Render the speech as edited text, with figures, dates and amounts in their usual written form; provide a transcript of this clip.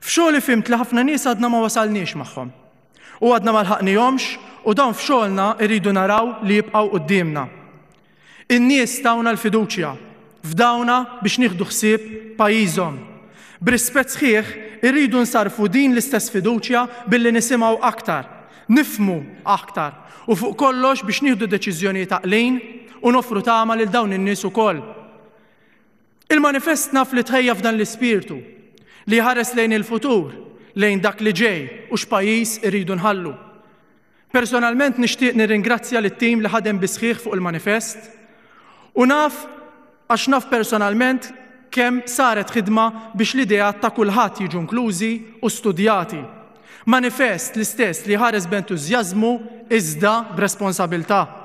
F'xogħli fhimt li ħafna nies għadna ma wasalniex magħhom. U għadna ma lħaqnihomx u dawn f'xogħolna rridu naraw li jibqgħu quddiemna. In-nies tawna l-fiduċja, fdawna biex nieħdu ħsieb pajjiżhom. B'rispett sħiħ, irridu nsarrfu din l-istess fiduċja billi nisimgħu aktar, nifhmu aktar u fuq kollox biex nieħdu deċiżjonijiet għaqlin u noffru tama lil dawn in-nies ukoll. Il-manifest naf li tħejja f'dan l-ispirtu, li jħares lejn il-futur, lejn dak li ġej u x'pajjiż irridu nħallu. Personalment nixtieq nirringrazzja lit-tim li ħadem bis-sħiħ fuq il-manifest u naf għax naf personalment kemm saret ħidma biex l-ideat ta' kulħadd jiġu inklużi u studjati. Manifest l-istess li jħares b'entużjażmu iżda b'responsabilità.